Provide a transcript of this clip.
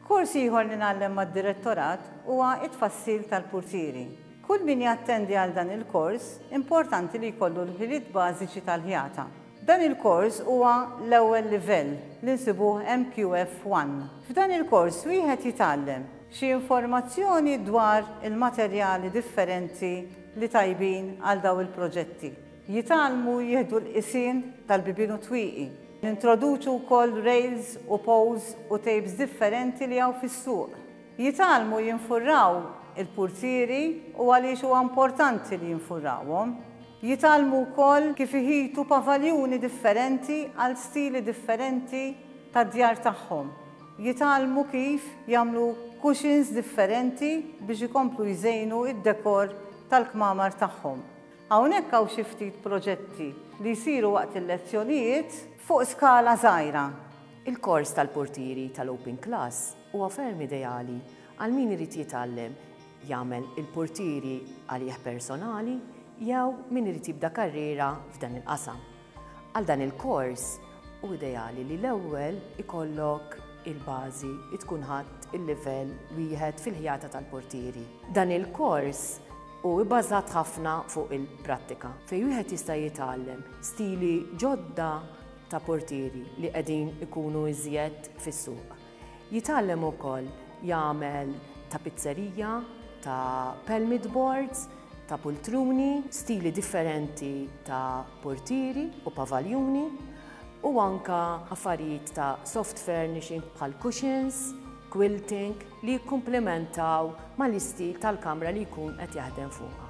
Kors ieħor li ngħallem mad-Direttorat huwa t-tfassil tal-purtieri. Kull min jattendi għal dan il-kors importanti li jkollu l-ħiliet bażiċi tal-ħjata. Dan il-kors huwa l-ewwel livell li nsibuh MQF One. F'dan il-kors wieħed jitgħallem xi informazzjoni dwar il-materjali differenti li tajbin għal daw il-proġetti. Jitgħallmu jieħdu l-qisien tal-bibien u twieqi. Nintroduċu wkoll rails u poles u tapes differenti li hawn fis-suq. Jitgħallmu jinfurraw il-purtieri u għaliex huwa importanti li jinfurrawhom. Jitgħallmu wkoll kif iħitu pavaljuni differenti għal stili differenti tad-djar tagħhom. Jitgħallmu kif jagħmlu cushions differenti biex ikomplu jżejnu d-dekor tal-kmamar tagħhom. Hawnhekk hawn xi ftit proġetti li jsiru waqt il-lezzjonijiet fuq skala żgħira. Il-kors tal-purtieri tal-Open Class huwa ferm ideali għal min irid jitgħallem jagħmel il-purtieri għalih personali jew min irid jibda karriera f'dan il-qasam. Għal dan il-kors hu ideali li l-ewwel ikollok il-bażi tkun ħadt il-livell wieħed fil-ħjata tal-purtieri. Dan il-kors Hu bbażat ħafna fuq il-prattika, fejn wieħed jista' jitgħallem stili ġodda ta' portieri li qegħdin ikunu iżjed fis-suq. Jitgħallem ukoll jagħmel tapizzerija, ta' pelmit boards, ta' pultruni, stili differenti ta' portieri u pavaljuni u anke affarijiet ta' soft furnishing bħal cushions, quilting li jikkumplimentaw mal-istil tal-kamra li jkun qed jaħdem fuqha.